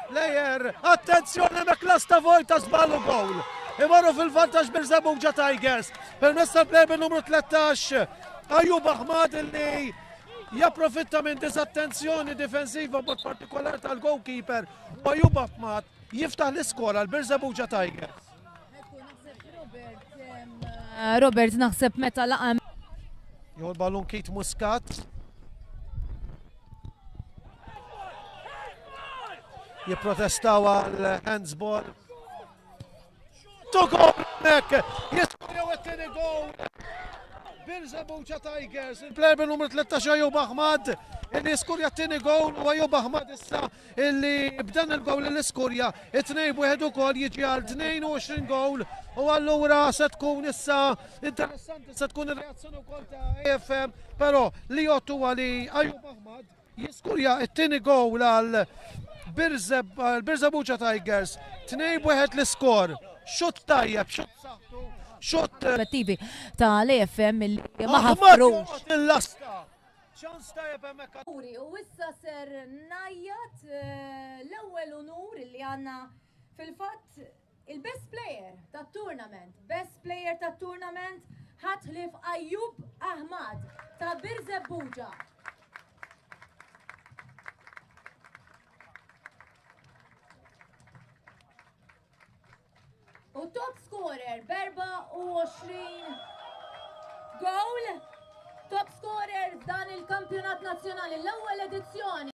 Plejer, attenzjoni hemmhekk lasta vojta żball u gowl. Imorru fil-vantaġġ Birżebbuġa Tigers. Permezz tal-plejer bin-numru 13 Ayub Ahmad li japprofitta minn disattenzjoni difensiva b'mod partikolari tal-goalkeeper u Ayub Ahmad jiftaħ l-iskor għal Birżebbuġa Tigers. Robert naħseb meta laqa. Jew l-ballun Keith Muscat. Jipprotestaw għal handsball. Tu gol hemmhekk! Jiskorjaw it-tieni goal. Birżebbuġa Tigers, il-player bil-numru 13 Ayub Ahmad, illi jiskurja t-tieni goal u Ayub Ahmad issa illi b'dan il-goal li skurja it-tnejn b'wieħed ukoll jiġi għal 22 goal u allura se tkun issa interessanti se tkun ir-reazzjoni wkoll ta' AFM, però li jgħod huwa li Ayub Ahmad Jiskurja t-tieni gowl għal Birżebbuġa Tigers. 2-1 l-iskor. Xutt tajjeb, xutt saħħtu, xutt. Perspettivi ta' l-AFM li ma ħafrux. Il-lasta. Ċans tajjeb hemmhekk. U issa ser najjat eh, l-ewwel unur li għandna fil-fatt il-best player tat-tournament, best player tat-tournament ħadd ħlief Ayub Ahmad ta' Birżebbuġa. U top scorer b'24 goal. Top scorer f'dan il-kampjonat nazzjonali l-ewwel edizzjoni.